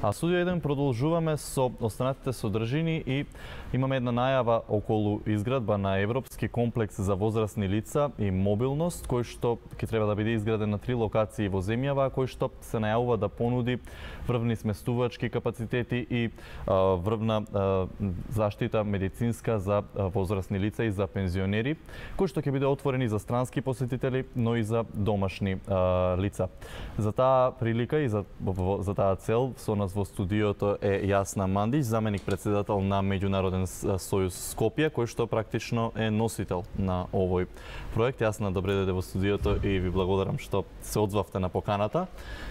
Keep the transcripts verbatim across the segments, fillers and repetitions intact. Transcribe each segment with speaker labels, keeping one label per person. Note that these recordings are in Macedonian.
Speaker 1: А студио еден продолжуваме со останатите содржини и имаме една најава околу изградба на европски комплекс за возрастни лица и мобилност, кој што ќе треба да биде изграден на три локации во земјава, кој што се најавува да понуди врвни сместувачки капацитети и а, врвна а, заштита медицинска за а, возрастни лица и за пензионери, кој што ќе биде отворени за странски посетители, но и за домашни а, лица. За таа прилика и за, за таа цел со нас во студиото е Јасна Мандич, заменик председател на Меѓународен сојуз Скопје, кој што практично е носител на овој проект. Јасна, добре дојде во студиото и ви благодарам што се одзвавте на поканата.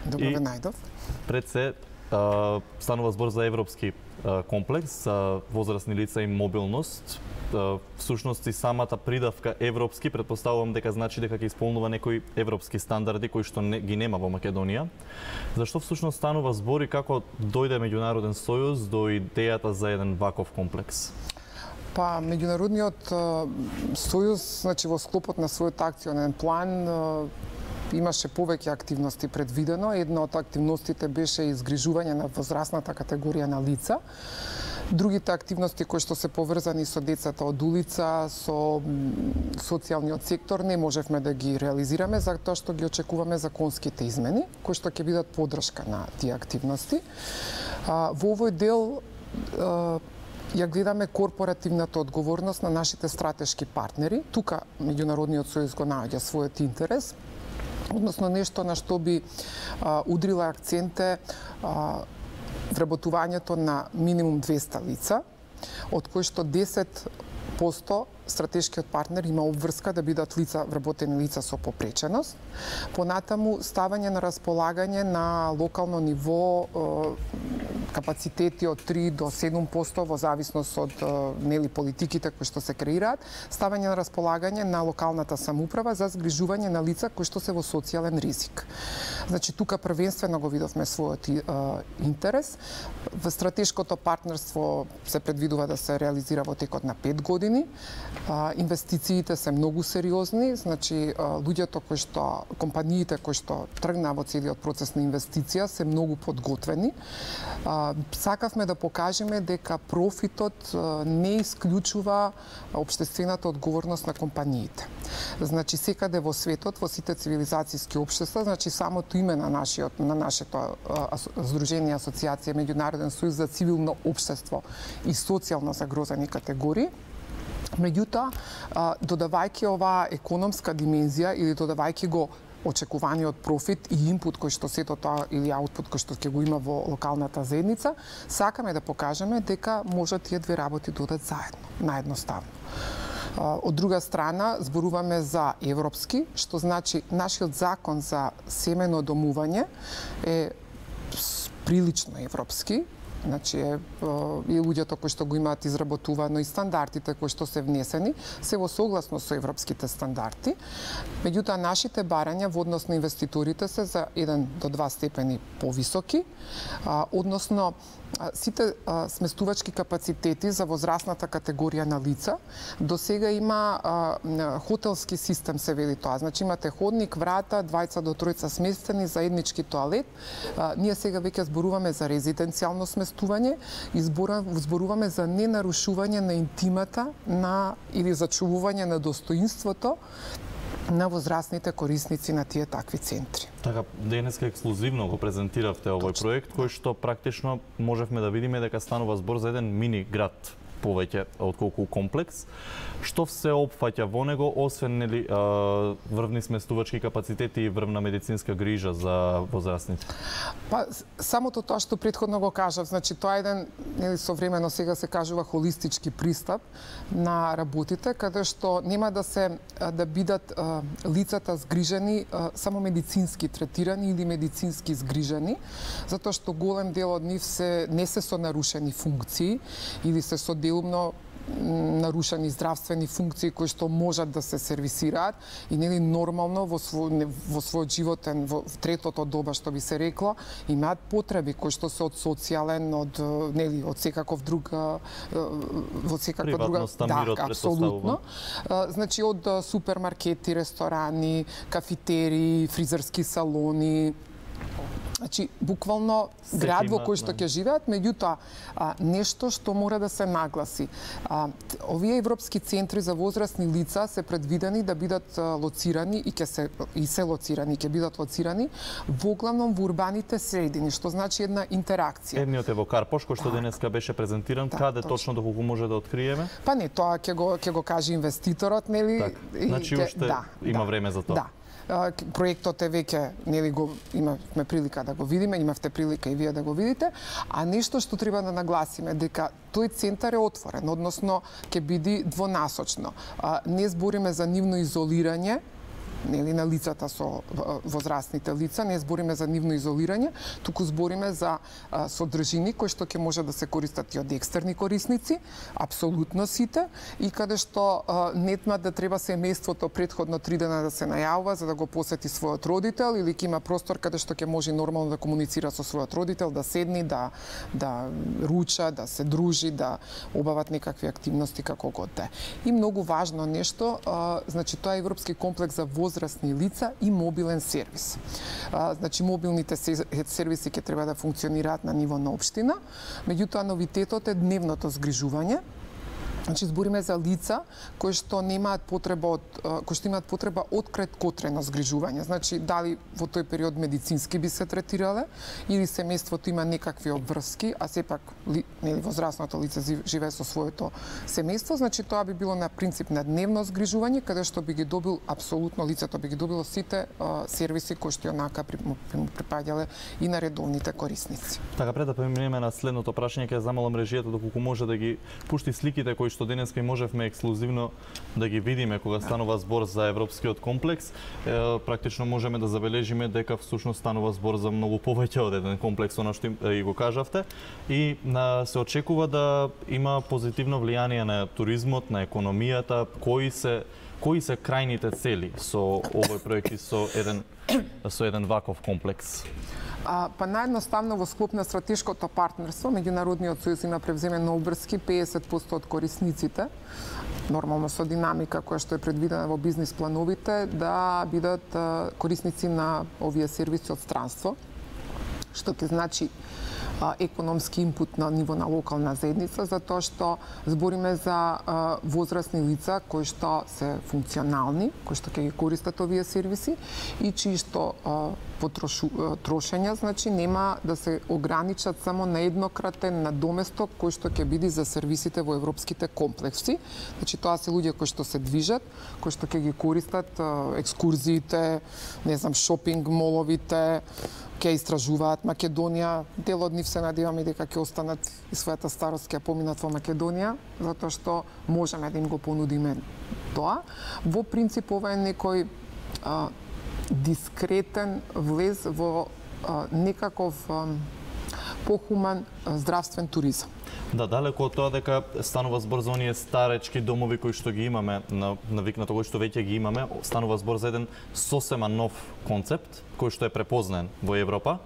Speaker 2: Добро ве најдов.
Speaker 1: Пред се станува збор за европски комплекс за возрастни лица и мобилност. Всушност и самата придавка европски претпоставувам дека значи дека ќе исполнува некои европски стандарди кои што не, ги нема во Македонија. Зашто всушност станува збор и како дојде Меѓународен сојуз до идејата за еден ваков комплекс?
Speaker 2: Па, Меѓународниот сојуз, значи во склопот на својот акционен план имаше повеќе активности предвидено. Една од активностите беше изгрижување на возрастната категорија на лица. Другите активности кои што се поврзани со децата од улица, со социјалниот сектор, не можевме да ги реализираме, затоа што ги очекуваме законските измени, кои што ќе бидат поддршка на тие активности. Во овој дел ја гледаме корпоративната одговорност на нашите стратешки партнери. Тука Меѓународниот сојуз го наоѓа својот интерес, односно нешто на што би а, удрила акценте а, вработувањето на минимум двеста лица, од кои што десет посто стратешкиот партнер има обврска да бидат лица, вработени лица со попреченост. Понатаму ставање на располагање на локално ниво капацитети од три до седум посто во зависност од нели политиките кои што се креираат, ставање на располагање на локалната самоуправа за згрижување на лица кои што се во социјален ризик. Значи тука првенствено го видовме својот интерес. Во стратешкото партнерство се предвидува да се реализира во текот на пет години. А, инвестициите се многу сериозни, значи а, луѓето кои што, компаниите кои што тргнаа во целиот процес на инвестиција се многу подготвени. А, сакавме да покажеме дека профитот а, не исклучува општествената одговорност на компаниите. Значи секаде во светот, во сите цивилизацијски општества, значи самото име на нашиот на нашето здружение асоциација Меѓународен сојуз за цивилно општество и социјално загрозени категории. Меѓутоа, додавајќи оваа економска димензија или додавајќи го очекуваниот профит и инпут кој што сето тоа или аутпут кој што ќе го има во локалната заедница, сакаме да покажеме дека може тие две работи додат заедно, наедноставно. Од друга страна, зборуваме за европски, што значи нашиот закон за семено домување е прилично европски. Значи, е, и луѓето кои што го имаат изработувано и стандардите кои што се внесени се во согласно со европските стандарди. Меѓутоа, нашите барања во однос на инвеститорите се за еден до два степени повисоки, а, односно сите а, сместувачки капацитети за возрастната категорија на лица. До сега има а, хотелски систем, се вели тоа. Значи имате ходник, врата, двајца до тројца сместени, заеднички тоалет. А, ние сега веќе зборуваме за резиденцијално сместување и зборуваме за ненарушување на интимата на или зачувување на достоинството на возрастните корисници на тие такви центри.
Speaker 1: Така, денеска ексклузивно го презентиравте овој Точно. проект, кој што практично можевме да видиме дека станува збор за еден мини град повеќе отколку комплекс. Што се опфаќа во него, освен нели врвни сместувачки капацитети и врвна медицинска грижа за возрастните?
Speaker 2: Па самото тоа што претходно го кажав, значи тоа е еден нели современо сега се кажува холистички пристап на работите, каде што нема да се да бидат а, лицата згрижени а, само медицински третирани или медицински згрижени, затоа што голем дел од нив се не се со нарушени функции или се со делумно нарушени здравствени функции кои што можат да се сервисираат и нели нормално во свој во својот животен во третото доба што би се рекло имаат потреби кои што се од социјален, од нели од секаков друг во секаква друга
Speaker 1: да,
Speaker 2: апсолутно. Значи од супермаркети, ресторани, кафетерии, фризерски салони, Значи, буквално град во кој што ќе живеат, меѓутоа нешто што мора да се нагласи. А, овие европски центри за возрастни лица се предвидени да бидат лоцирани и ќе се и се лоцирани, ќе бидат лоцирани воглавном во урбаните средини, што значи една интеракција.
Speaker 1: Едниот е во Карпош, кој што так. денеска беше презентиран, так, каде точно, точно доколку може да откриеме?
Speaker 2: Па не, тоа ќе го ќе го каже инвеститорот, нели?
Speaker 1: Так. Значи уште да, има да, време за тоа.
Speaker 2: Да. Проектот е веќе, нели го имавме прилика да го видиме, имавте прилика и вие да го видите, а нешто што треба да нагласиме дека тој центар е отворен, односно ќе биде двонасочно. Не збориме за нивно изолирање, нели на лицата со возрастните лица, не збориме за нивно изолирање, туку збориме за а, содржини кои што ќе може да се користат и од екстерни корисници, апсолутно сите, и каде што а, нетма да треба семејството претходно три дена да се најавува за да го посети својот родител, или ќе има простор каде што ќе може нормално да комуницира со својот родител, да седни, да да руча, да се дружи, да обават некакви активности како год да. И многу важно нешто, а, значи тоа е европски комплекс за возрастни лица и мобилен сервис. А, значи, мобилните сервиси ќе треба да функционираат на ниво на општина, меѓутоа новитетот е дневното згрижување. Значи, збориме за лица кои што немаат потреба од кои што имаат потреба од краткотрено згрижување. Значи, дали во тој период медицински би се третирале или семејството има некакви обврски, а сепак ли, нели возрастното лице живее со своето семејство, значи тоа би било на принцип на дневно згрижување, каде што би ги добил апсолутно лицето би ги добило сите а, сервиси кои што онака при, му припаѓале и на редовните корисници.
Speaker 1: Така, пред да преминеме на следното прашање, ќе замолам режијата доколку може да ги пушти сликите кои што денеска и можевме ексклузивно да ги видиме кога станува збор за европскиот комплекс. Е, практично можеме да забележиме дека всушност станува збор за многу повеќе од еден комплекс, она што и го кажавте, и на, се очекува да има позитивно влијание на туризмот, на економијата. Кои се кои се крајните цели со овој проект и со еден со еден ваков комплекс?
Speaker 2: А, па наједноставно во склоп на стратешкото партнерство, Меѓународниот сојуз има превземено обврски педесет проценти од корисниците, нормално со динамика која што е предвидена во бизнис плановите, да бидат а, корисници на овие сервиси од странство, што ќе значи а, економски инпут на ниво на локална заедница, затоа што збориме за а, возрастни лица кои што се функционални, кои што ќе ги користат овие сервиси и чии што а, потрошу, трошења, значи нема да се ограничат само на еднократен надоместок кој што ќе биде за сервисите во европските комплекси. Значи тоа се луѓе кои што се движат, кои што ќе ги користат а, екскурзиите, не знам, шопинг моловите, ќе истражуваат Македонија. Дел од нив се надеваме дека ќе останат и својата старост ќе поминат во Македонија, затоа што можеме да им го понудиме тоа. Во принцип ова е некој а, дискретен влез во а, некаков а, похуман а, здравствен туризам.
Speaker 1: Да, далеко од тоа дека станува збор за оние старечки домови кои што ги имаме, на, навикнато кои што веќе ги имаме, станува збор за еден сосема нов концепт кој што е препознаен во Европа.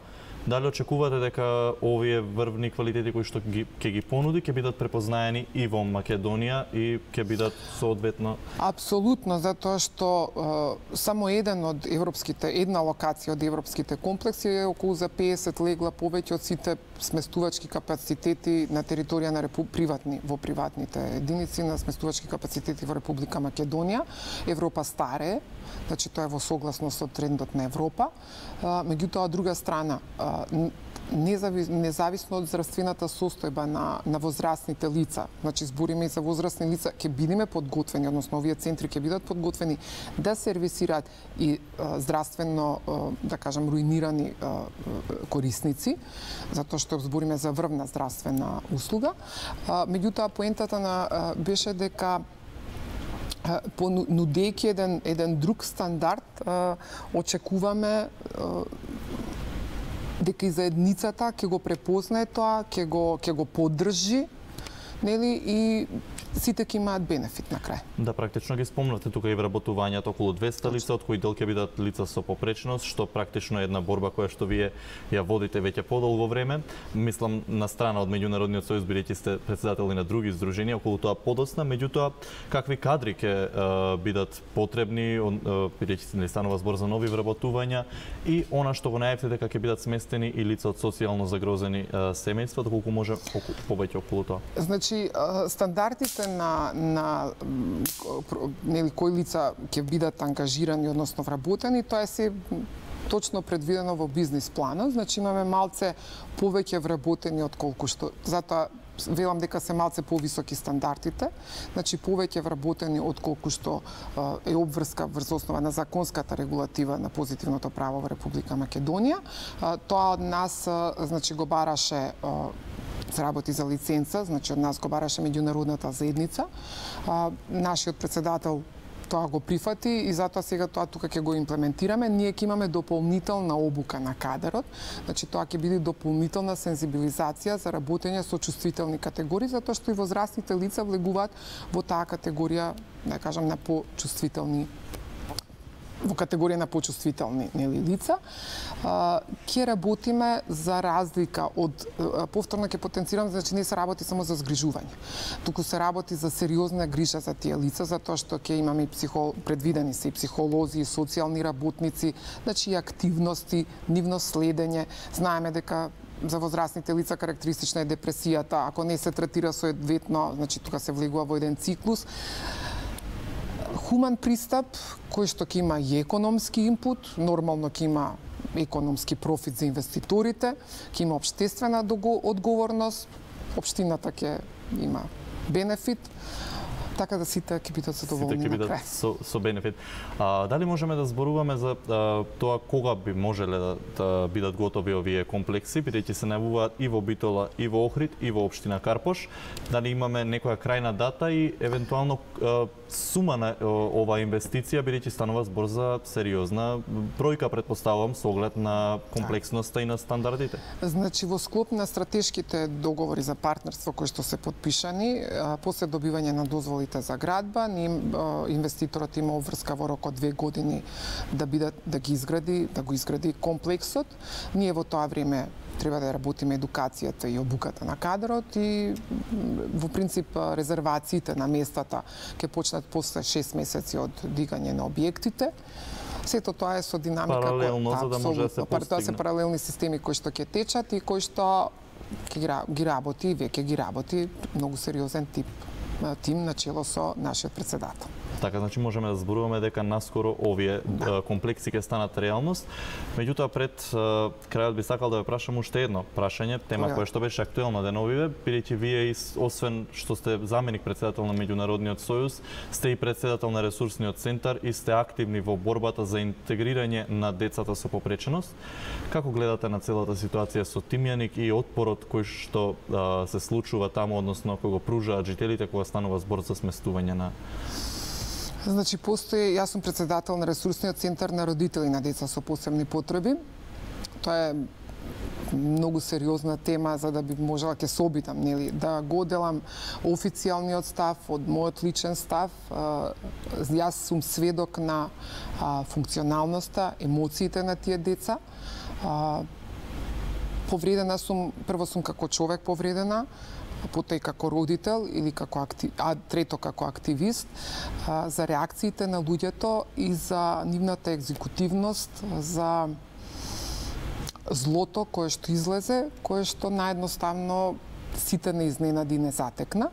Speaker 1: Дали очекувате дека овие врвни квалитети кои што ги, ќе ги понуди ќе бидат препознаени и во Македонија и ќе бидат соодветно?
Speaker 2: Апсолутно, затоа што е, само еден од европските, една локација од европските комплекси е околу за педесет легла повеќе од сите сместувачки капацитети на територија на репу... приватни, во приватните единици на сместувачки капацитети во Република Македонија. Европа старее, значи тоа е во согласност со трендот на Европа. Меѓутоа, од друга страна, независ, независно од здравствената состојба на, на возрастните лица, значи збориме и за возрастни лица, ќе бидеме подготвени, односно овие центри ќе бидат подготвени да сервисираат и а, здравствено, а, да кажам, руинирани а, корисници, затоа што збориме за врвна здравствена услуга. А, меѓутоа, поентата на а, беше дека понудејќи еден, еден друг стандард, а, очекуваме а, дека и заедницата ќе го препознае тоа, ќе го ќе го поддржи, нели, и сите ќе имаат бенефит на крај.
Speaker 1: Да, практично ги спомнате тука и вработувањето околу двесте лица, од кои дел ќе бидат лица со попречност, што практично е една борба која што вие ја водите веќе подолго време. Мислам на страна од Меѓународниот сојуз, бидејќи сте председател на други здруженија, околу тоа подосна, меѓутоа какви кадри ќе бидат потребни, бидејќи не станува збор за нови вработувања и она што го најавите дека ќе бидат сместени и лица од социјално загрозени семејства, доколку може повеќе околу тоа.
Speaker 2: Значи стандардите на на нели кои лица ќе бидат ангажирани, односно вработени, тоа е се точно предвидено во бизнис планот, значи имаме малце повеќе вработени од колку што, затоа велам дека се малце повисоки стандардите, значи повеќе вработени од колку што е обврска врз основа на законската регулатива на позитивното право во Република Македонија. Тоа од нас значи го бараше, се работи за лиценца, значи од нас го бараше меѓународната заедница. Нашиот председател тоа го прифати и затоа сега тоа тука ќе го имплементираме. Ние ќе имаме дополнителна обука на кадрот, значи тоа ќе биде дополнителна сензибилизација за работење со чувствителни категории, затоа што и возрастните лица влегуваат во таа категорија, да кажам, на почувствителни во категорија на почувствителни нели лица. Ќе работиме за разлика од, повторно ќе потенцирам, значи не се работи само за згрижување, туку се работи за сериозна грижа за тие лица, затоа што ќе имаме и психо, предвидени се и психолози, и социјални работници, значи и активности, нивно следење. Знаеме дека за возрастните лица карактеристична е депресијата, ако не се третира соодветно, значи тука се влегува во еден циклус. Хуман пристап, кој што ќе има и економски инпут, нормално ќе има економски профит за инвеститорите, ќе има општествена одговорност, општината ќе има бенефит, така да сите ќе бидат задоволни на крај.
Speaker 1: Со, со бенефит. А, дали можеме да зборуваме за а, тоа кога би можеле да, да бидат готови овие комплекси, бидејќи се најавуваат и во Битола, и во Охрид, и во општина Карпош? Дали имаме некоја крајна дата и евентуално а, сума на оваа инвестиција, бидејќи станува збор за сериозна бројка, предпоставувам, со оглед на комплексноста и на стандардите?
Speaker 2: Значи, во склоп на стратешките договори за партнерство кои што се подпишани, после добивање на дозволи за градба, инвеститорот има обврска во рок од две години да бидат да ги изгради, да го изгради комплексот. Ние во тоа време треба да работиме едукацијата и обуката на кадрот и во принцип резервациите на местата ќе почнат после шест месеци од дигање на објектите. Сето тоа е со динамика
Speaker 1: паралелно, кој, за да може да се постигне.
Speaker 2: Тоа се паралелни системи кои што ќе течат и кои што ги работи, веќе ги работи многу сериозен тип тим начело со нашиот председател.
Speaker 1: Така, значи можеме да зборуваме дека наскоро овие да. комплекси ќе станат реалност. Меѓутоа, пред крајот би сакал да ве прашам уште едно прашање, тема која што беше актуелна деновиве, бидејќи вие, освен што сте заменик председател на Меѓународниот сојуз, сте и председател на ресурсниот центар и сте активни во борбата за интегрирање на децата со попреченост. Како гледате на целата ситуација со Тимјаник и отпорот кој што а, се случува таму, односно кој го пружаат жителите кога станува збор за сместување на...
Speaker 2: Значи, постои, јас сум председател на ресурсниот центар на родители на деца со посебни потреби. Тоа е многу сериозна тема за да би можела ќе се обидам, нели, да го делам официјалниот став од мојот личен став. Јас сум сведок на функционалноста, емоциите на тие деца. Повредена сум, прво сум како човек повредена, потоа и како родител или како актив, а трето како активист, а, за реакциите на луѓето и за нивната екзекутивност, за злото кое што излезе, кое што наедноставно сите не изненади не затекна.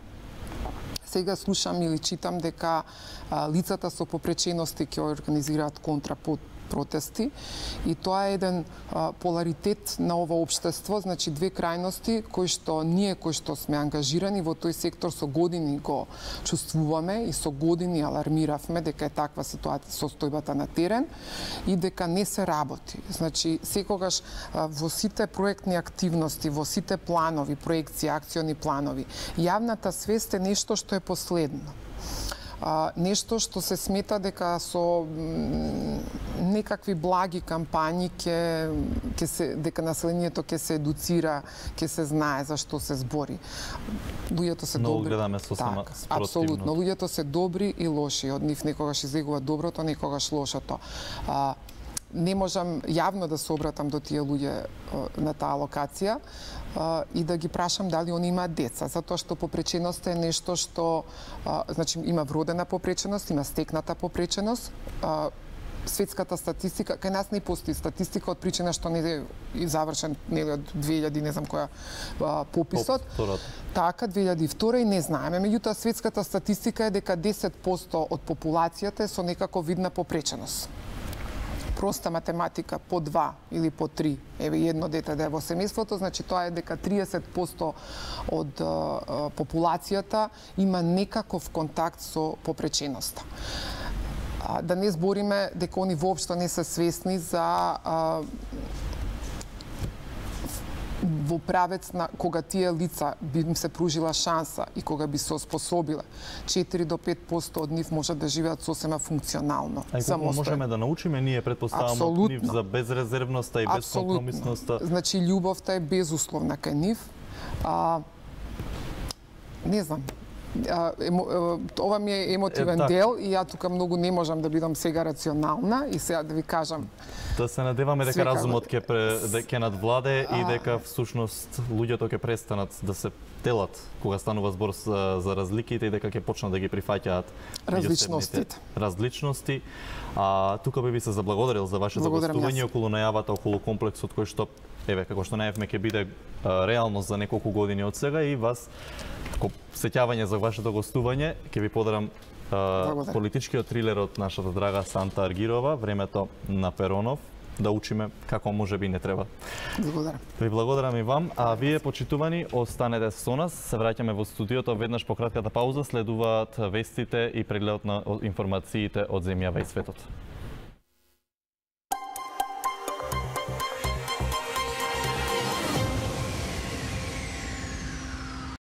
Speaker 2: Сега слушам или читам дека а, лицата со попречености ќе организираат контрапот протести и тоа е еден а, поларитет на ова општество, значи две крајности кои што ние кои што сме ангажирани во тој сектор со години го чувствуваме и со години алармиравме дека е таква ситуација состојбата на терен и дека не се работи. Значи секогаш а, во сите проектни активности, во сите планови, проекции, акциони планови, јавната свест е нешто што е последно. Uh, нешто што се смета дека со некакви благи кампањи ќе ќе се дека населението ќе се едуцира, ќе се знае за што се збори. Луѓето се
Speaker 1: Много
Speaker 2: добри.
Speaker 1: гледаме сосема
Speaker 2: така,
Speaker 1: спротивно.
Speaker 2: апсолутно. Луѓето се добри и лоши. Од нив некогаш излегува доброто, некогаш лошото. А, не можам јавно да се обратам до тие луѓе на таа локација а, и да ги прашам дали они имаат деца, затоа што попреченост е нешто што а, значи има вродена попреченост, има стекната попреченост. А, светската статистика, кај нас не постои статистика од причина што не е завршен нели од две илјади не знам која а, пописот.
Speaker 1: Поп,
Speaker 2: така две илјади и втора и не знаеме, меѓутоа светската статистика е дека десет проценти од популацијата е со некако видна попреченост. Проста математика по два или по три, еве едно дете да е во семејството, значи тоа е дека триесет проценти од а, а, популацијата има некаков контакт со попреченоста. А, да не збориме дека они воопшто не се свесни за а, во правец на кога тие лица би им се пружила шанса и кога би се оспособиле, четири до пет проценти од нив можат да живеат сосема функционално.
Speaker 1: А колку можеме да научиме ние, предпоставам, од нив за безрезервноста и безкомпромисноста?
Speaker 2: Значи, љубовта е безусловна кај нив. А, не знам, А, емо, ова ми е емотивен
Speaker 1: е,
Speaker 2: дел и ја тука многу не можам да бидам сега рационална и сега да ви кажам.
Speaker 1: Да се надеваме дека
Speaker 2: Свека...
Speaker 1: разумот ќе ќе надвладе а... и дека всушност луѓето ќе престанат да се делат кога станува збор за, за разликите и дека ќе почнат да ги прифаќаат
Speaker 2: различностите.
Speaker 1: Различности. А тука би ви се заблагодарил за вашето гостување околу најавата околу комплексот кој што еве како што најавме ќе биде а, реалност за неколку години од сега и вас како сеќавање за вашето гостување ќе ви подарам а, политичкиот трилер од нашата драга Санта Аргирова, Времето на Перонов, да учиме како може би не треба.
Speaker 2: Благодарам.
Speaker 1: Ви благодарам и вам, а вие почитувани останете со нас. Се враќаме во студиото веднаш по кратката пауза, следуваат вестите и прегледот на информациите од земјава и светот.